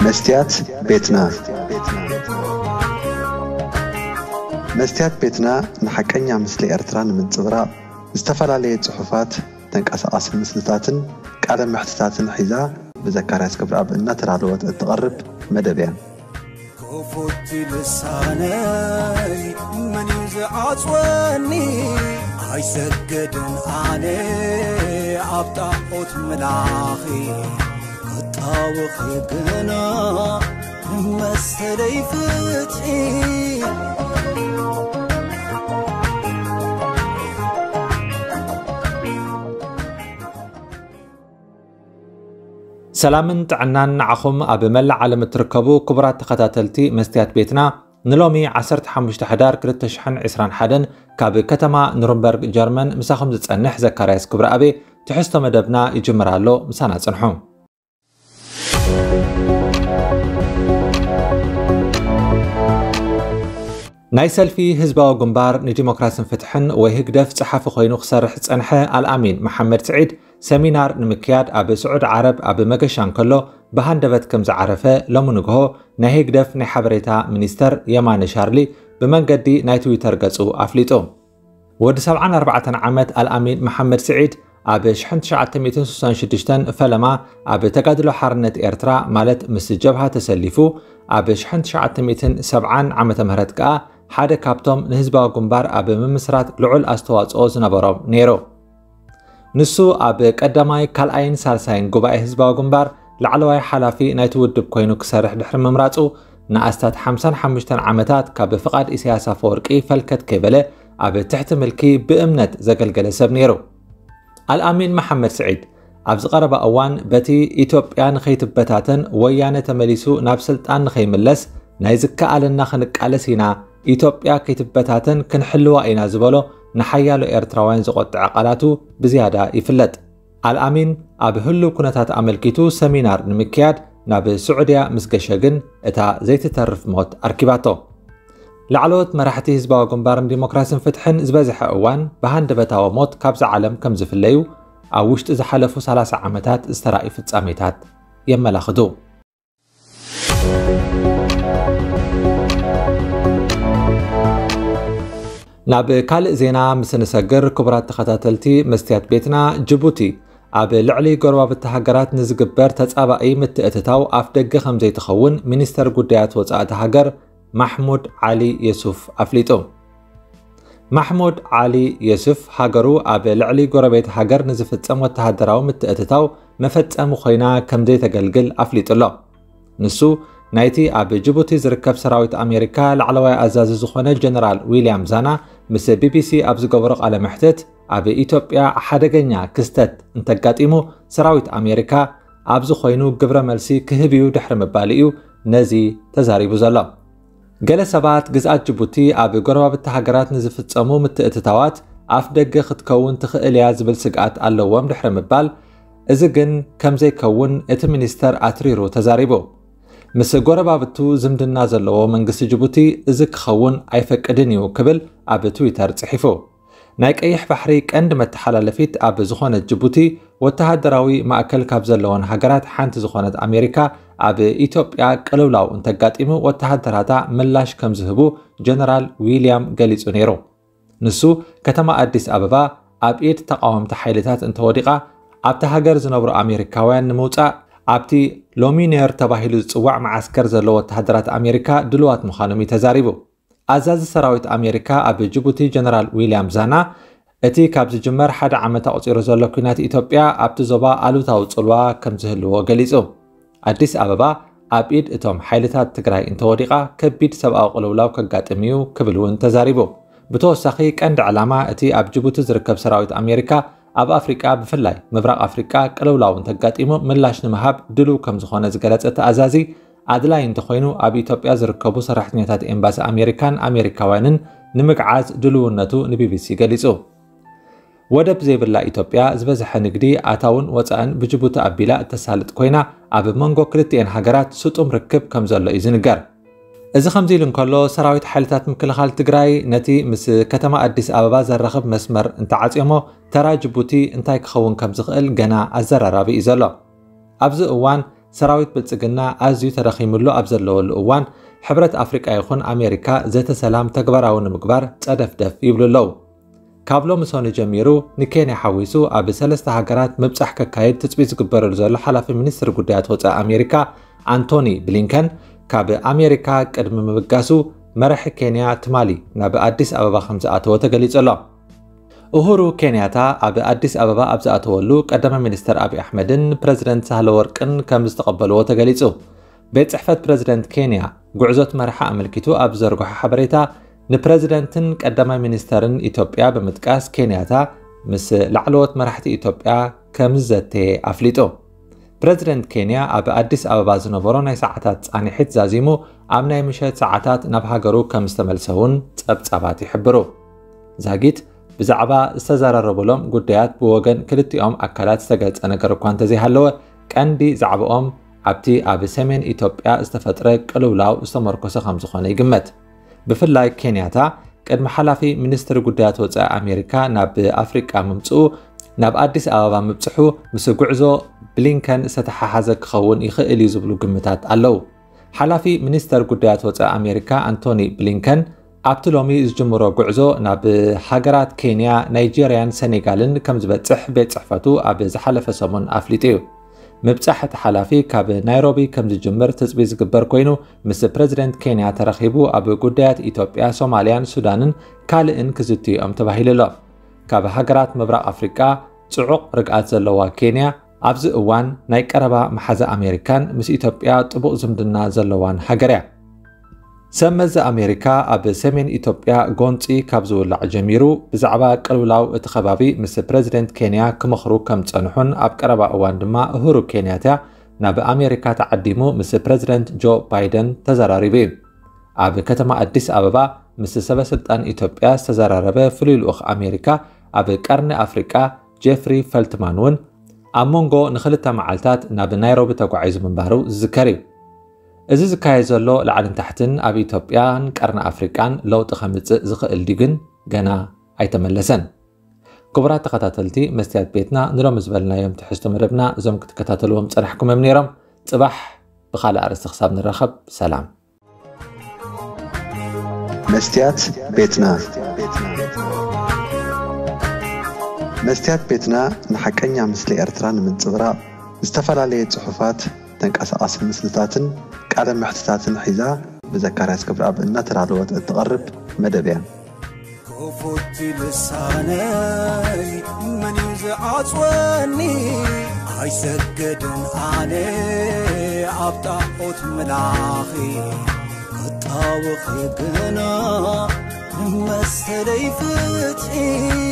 መስትያት ቤትና። መስትያት ቤትና ንሓቀኛ ምስሊ ኤርትራ ንምንጽብራቕ ዝተፈላለየ ጽሑፋት፣ ተንቀሳቓሲ ምስልታትን ቃለ መሕትታትን ሒዛ ብዘካርያስ ክብረኣብ እናተዳለወት እትቐርብ መደብ እያ። ክፉት ልሳነይ መን እዩ ዝዓጽወኒ? ኣይሰግድን ኣነ ኣብ ጣዖት ምላኺ፣ ክጣወኺ ግና መሰለይ ፍትሒ። ሰላምን ጥዕናን ንዓኹም ኣብ መላእ ዓለም እትርከቡ ክቡራት ተኸታተልቲ መስትያት ቤትና። ንሎሚ ዓሰርተ ሓሙሽተ ሕዳር ክልተ ሽሕን ዕስራን ሓደን ካብ ከተማ ኑርንበርግ ጀርመን ምሳኹም ዝጸንሕ ዘካርያስ ክብረኣብ እየ። ትሕዝቶ መደብና ይጅምር ኣሎ፣ ምሳና ጽንሑ። ናይ ሰልፊ ህዝባዊ ግንባር ንዲሞክራስን ፍትሕን ወይ ህግደፍ ጸሓፊ ኮይኑ ክሰርሕ ዝጸንሐ ኣልኣሚን መሓመድ ስዒድ ሰሚናር ንምክያድ ኣብ ስዑዲ ዓረብ ኣብ መገሻ እንከሎ ብሃንደበት ከም ዝዓረፈ ሎሚ ንግሆ ናይ ህግደፍ ናይ ሓበሬታ ሚኒስተር የማነ ሻርሊ ብመንገዲ ናይ ትዊተር ገጹ ኣፍሊጡ። ወዲ ሰብዓን ኣርባዕተን ዓመት ኣልኣሚን መሓመድ ስዒድ ኣብ ሽሕን ትሽዓተ ሚእትን ስሳን ሽዱሽተን ፈለማ ኣብ ተጋድሎ ሓርነት ኤርትራ ማለት ምስ ጀብሃ ተሰሊፉ፣ ኣብ ሽሕን ትሽዓተ ሚእትን ሰብዓን ዓመተ ምህረት ከኣ ሓደ ካብቶም ንህዝባዊ ግንባር ኣብ ምምስራት ልዑል ኣስተዋጽኦ ዝነበሮም ነይሩ። ንሱ ኣብ ቀዳማይ፣ ካልኣይን ሳልሳይን ጉባኤ ህዝባዊ ግንባር ላዕለዋይ ሓላፊ ናይቲ ውድብ ኮይኑ ክሰርሕ ድሕሪ ምምራጹ፣ ንኣስታት ሓምሳን ሓሙሽተን ዓመታት ካብ ፍቓድ ኢሳያስ ኣፈወርቂ ፈልከት ከይበለ ኣብ ትሕቲ ምልኪ ብእምነት ዘገልገለ ሰብ ነይሩ። ኣልኣሚን መሓመድ ስዒድ ኣብዚ ቀረባ እዋን በቲ ኢትዮጵያ ንኸይትበታተን ወያነ ተመሊሱ ናብ ስልጣን ንኸይምለስ ናይ ዝከኣለና ክንቃለስ ኢና፣ ኢትዮጵያ ከይትበታተን ክንሕልዋ ኢና ዝበሎ ንሓያሎ ኤርትራውያን ዘቖጥዐ ቃላቱ ብዝያዳ ይፍለጥ። ኣልኣሚን ኣብ ህሉው ኩነታት ኣመልኪቱ ሰሚናር ንምክያድ ናብ ስዑድያ ምስ ገሸ ግን እታ ዘይትተርፍ ሞት ኣርኪባቶ። ላዕለዎት መራሕቲ ህዝባዊ ግንባርን ዲሞክራስን ፍትሕን ዝበዝሐ እዋን ብሃንደበታዊ ሞት ካብዛ ዓለም ከም ዝፍለዩ ኣብ ውሽጢ ዝሓለፉ ሰላሳ ዓመታት ዝተራእዩ ፍጻሜታት የመላኽቱ። ናብ ካልእ ዜና ምስ ንሰግር፣ ክቡራት ተኸታተልቲ መስትያት ቤትና፣ ጅቡቲ ኣብ ልዕሊ ጎረባብቲ ሃገራት ንዝግበር ተጻባኢ ምትእትታው ኣፍ ደገ ከም ዘይትኸውን ሚኒስተር ጉዳያት ወጻእቲ ሃገር ማሕሙድ ዓሊ የሱፍ ኣፍሊጡ። ማሕሙድ ዓሊ የሱፍ ሃገሩ ኣብ ልዕሊ ጎረቤት ሃገር ንዝፍጸም ወተሃደራዊ ምትእትታው መፈጸሚ ኮይና ከም ዘይተገልግል ኣፍሊጡ ኣሎ። ንሱ ናይቲ ኣብ ጅቡቲ ዝርከብ ሰራዊት ኣሜሪካ ላዕለዋይ ኣዛዚ ዝኾነ ጀነራል ዊልያም ዛና ምስ ቢቢሲ ኣብ ዝገበሮ ቃለ መሕትት፣ ኣብ ኢትዮጵያ ሓደገኛ ክስተት እንተጋጢሙ ሰራዊት ኣሜሪካ ኣብዚ ኮይኑ ግብረ መልሲ ክህብ እዩ ድሕሪ ምባሉ እዩ ነዚ ተዛሪቡ ዘሎ። ገለ ሰባት ግዝኣት ጅቡቲ ኣብ ጎረባብቲ ሃገራት ንዝፍጸሙ ምትእትታዋት ኣፍ ደገ ክትከውን ትኽእል እያ ዝብል ስግኣት ኣለዎም ድሕሪ ምባል፣ እዚ ግን ከም ዘይከውን እቲ ሚኒስተር ኣትሪሩ ተዛሪቡ። ምስ ጎረባብቱ ዝምድና ዘለዎ መንግስቲ ጅቡቲ እዚ ክኸውን ኣይፈቅድን እዩ ክብል ኣብ ትዊተር ጽሒፉ። ናይ ቀይሕ ባሕሪ ቀንዲ መተሓላለፊት ኣብ ዝኾነት ጅቡቲ፣ ወተሃደራዊ ማእከል ካብ ዘለወን ሃገራት ሓንቲ ዝኾነት ኣሜሪካ ኣብ ኢትዮጵያ ቅልውላው እንተጋጢሙ ወተሃደራታ ምላሽ ከም ዝህቡ ጀነራል ዊልያም ገሊጹ ነይሩ። ንሱ፣ ከተማ ኣዲስ ኣበባ ኣብ ኢድ ተቓወምቲ ሓይልታት እንተወዲቓ፣ ኣብቲ ሃገር ዝነብሩ ኣሜሪካውያን ንምውጻእ ኣብቲ ሎሚኔር ተባሂሉ ዝጽዋዕ መዓስከር ዘለዉ ወተሃደራት ኣሜሪካ ድሉዋት ምዃኖም እዩ ተዛሪቡ። ኣዛዚ ሰራዊት ኣሜሪካ ኣብ ጅቡቲ ጀነራል ዊልያም ዛና፣ እቲ ካብ ዝጅመር ሓደ ዓመት ኣቑጺሩ ዘሎ ኲናት ኢትዮጵያ ኣብቲ ዞባ ኣሉታዊ ጽልዋ ከም ዝህልዎ ገሊጹ። ኣዲስ ኣበባ ኣብ ኢድ እቶም ሓይልታት ትግራይ እንተወዲቓ ከቢድ ሰብኣዊ ቅልውላው ከጋጥም እዩ ክብል እውን ተዛሪቡ። ብተወሳኺ ቀንዲ ዕላማ እቲ ኣብ ጅቡቲ ዝርከብ ሰራዊት ኣሜሪካ ኣብ ኣፍሪቃ ብፍላይ ምብራቕ ኣፍሪቃ ቅልውላው እንተጋጢሙ ምላሽ ንምሃብ ድሉው ከም ዝኾነ ዝገለጸ እቲ ኣዛዚ ኣድላይ እንተኾይኑ ኣብ ኢትዮጵያ ዝርከቡ ሰራሕተኛታት ኤምባሲ ኣሜሪካን ኣሜሪካውያንን ንምግዓዝ ድልውነቱ ንቢቢሲ ገሊጹ። ወደብ ዘይብላ ኢትዮጵያ ዝበዝሐ ንግዲ ኣታውን ወጻእን ብጅቡቲ ኣቢላ እተሳልጥ ኮይና ኣብ መንጎ ክልቲኤን ሃገራት ስጡም ርክብ ከም ዘሎ እዩ ዝንገር። እዚ ከምዚ ኢሉ እንከሎ ሰራዊት ሓይልታት ምክልኻል ትግራይ ነቲ ምስ ከተማ ኣዲስ ኣበባ ዘራኽብ መስመር እንተዓጽዮሞ ተራ ጅቡቲ እንታይ ክኸውን ከም ዝኽእል ገና ኣዘራራቢ እዩ ዘሎ። ኣብዚ እዋን ሰራዊት ብልጽግና ኣዝዩ ተዳኺምሉ ኣብ ዘለወሉ እዋን፣ ሕብረት ኣፍሪቃ ይኹን ኣሜሪካ ዘተ ሰላም ተግባራዊ ንምግባር ጸደፍደፍ ይብሉ ኣለዉ። ካብ ሎሚ ሰኑይ ጀሚሩ ንኬንያ ሓዊሱ ኣብ ሰለስተ ሃገራት ምብጻሕ ከካይድ ትጽቢት ዝግበረሉ ዘሎ ሓላፊ ሚኒስትሪ ጉዳያት ወጻኢ ኣሜሪካ ኣንቶኒ ብሊንከን፣ ካብ ኣሜሪካ ቅድሚ ምብጋሱ መራሒ ኬንያ ትማሊ ናብ ኣዲስ ኣበባ ከም ዝኣተወ ተገሊጹ ኣሎ። ኡሁሩ ኬንያታ ኣብ ኣዲስ ኣበባ ኣብ ዝኣተወሉ፣ ቀዳማይ ሚኒስትር ኣብይ ኣሕመድን ፕረዚደንት ሳህለወርቅን ከም ዝተቐበልዎ ተገሊጹ። ቤት ጽሕፈት ፕረዚደንት ኬንያ ጉዕዞ እቲ መራሒ ኣመልኪቱ ኣብ ዘርግሖ ሓበሬታ፣ ንፕረዚደንትን ቀዳማይ ሚኒስተርን ኢትዮጵያ ብምጥቃስ፣ ኬንያታ ምስ ላዕለዎት መራሕቲ ኢትዮጵያ ከም ዝዘተየ ኣፍሊጡ። ፕረዚደንት ኬንያ ኣብ ኣዲስ ኣበባ ዝነበሮ ናይ ሰዓታት ጻንሒት ዛዚሙ፣ ኣብ ናይ ምሸት ሰዓታት ናብ ሃገሩ ከም ዝተመልሰ እውን ጸብጻባት ይሕብሩ። ዛጊት ብዛዕባ ዝተዘራረቡሎም ጉዳያት ብወገን ክልቲኦም ኣካላት ዝተገልጸ ነገር እኳ እንተዘይሃለወ፣ ቀንዲ ዛዕባኦም ኣብቲ ኣብ ሰሜን ኢትዮጵያ ዝተፈጥረ ቅልውላው ዝተመርኮሰ ከም ዝኾነ ይግመት። ብፍላይ ኬንያታ ቅድሚ ሓላፊ ሚኒስትሪ ጉዳያት ወጻኢ ኣሜሪካ ናብ ኣፍሪቃ ምምጽኡ፣ ናብ ኣዲስ ኣበባ ምብጽሑ ምስ ጉዕዞ ብሊንከን ዝተተሓሓዘ ክኸውን ይኽእል እዩ ዝብሉ ግምታት ኣለዉ። ሓላፊ ሚኒስተር ጉዳያት ወጻኢ ኣሜሪካ ኣንቶኒ ብሊንከን ኣብቲ ሎሚ ዝጅምሮ ጉዕዞ ናብ ሃገራት ኬንያ፣ ናይጄርያን ሰኔጋልን ከም ዝበጽሕ ቤት ጽሕፈቱ ኣብ ዝሓለፈ ሰሙን ኣፍሊጡ እዩ። ምብጻሕ እቲ ሓላፊ ካብ ናይሮቢ ከም ዝጅምር ትጽቢት ዝግበር ኮይኑ፣ ምስ ፕረዚደንት ኬንያ ተራኺቡ ኣብ ጉዳያት ኢትዮጵያ፣ ሶማልያን ሱዳንን ካልእን ክዝትዩ እዮም ተባሂሉ ኣሎ። ካብ ሃገራት ምብራቕ ኣፍሪቃ ጽዑቕ ርግኣት ዘለዋ ኬንያ፣ ኣብዚ እዋን ናይ ቀረባ መሓዛ ኣሜሪካን ምስ ኢትዮጵያ ጥቡቕ ዝምድና ዘለዋን ሃገር እያ። ሰብ መዚ ኣሜሪካ ኣብ ሰሜን ኢትዮጵያ ጎንጺ ካብ ዝውላዕ ጀሚሩ ብዛዕባ ቅልውላው እቲ ከባቢ ምስ ፕረዚደንት ኬንያ ክመኽሩ ከም ጸንሑን ኣብ ቀረባ እዋን ድማ እሁሩ ኬንያታ ናብ ኣሜሪካ ተዓዲሙ ምስ ፕረዚደንት ጆ ባይደን ተዘራሪቡ እዩ። ኣብ ከተማ ኣዲስ ኣበባ ምስ ሰበ ስልጣን ኢትዮጵያ ዝተዘራረበ ፍሉይ ልኡኽ ኣሜሪካ ኣብ ቀርኒ ኣፍሪቃ ጄፍሪ ፈልትማን እውን ኣብ መንጎ ንኽልተ መዓልታት ናብ ናይሮቢ ተጓዒዙ ምንባሩ ዝዝከር እዩ። እዚ ዝካየድ ዘሎ ላዕልን ታሕትን ኣብ ኢትዮጵያን ቀርኒ ኣፍሪቃን ለውጢ ከምጽእ ዝኽእል ድዩ ግን ገና ኣይተመለሰን። ክቡራት ተኸታተልቲ መስትያት ቤትና፣ ንሎሚ ዝበልናዮም ትሕዝቶ መደብና እዞም ክትከታተልዎም ጸናሕኩም እዮም ነይሮም። ጽባሕ ብኻልእ ኣርእስቲ ክሳብ ንራኸብ፣ ሰላም። መስትያት ቤትና። መስትያት ቤትና ንሓቀኛ ምስሊ ኤርትራ ንምንጽብራቕ፣ ዝተፈላለየ ጽሑፋት፣ ተንቀሳቓሲ ምስልታትን ቃለ መሕትታትን ሒዛ ብዘካርያስ ክብረኣብ እናተዳለወት እትቐርብ መደብ እያ። ክፉት ልሳነይ መን እዩ ዝዓጽወኒ? ኣይሰገድን ኣነ ኣብ ጣዖት ምላኺ ክጣወኺ ግና ንመሰለይ ፍትሒ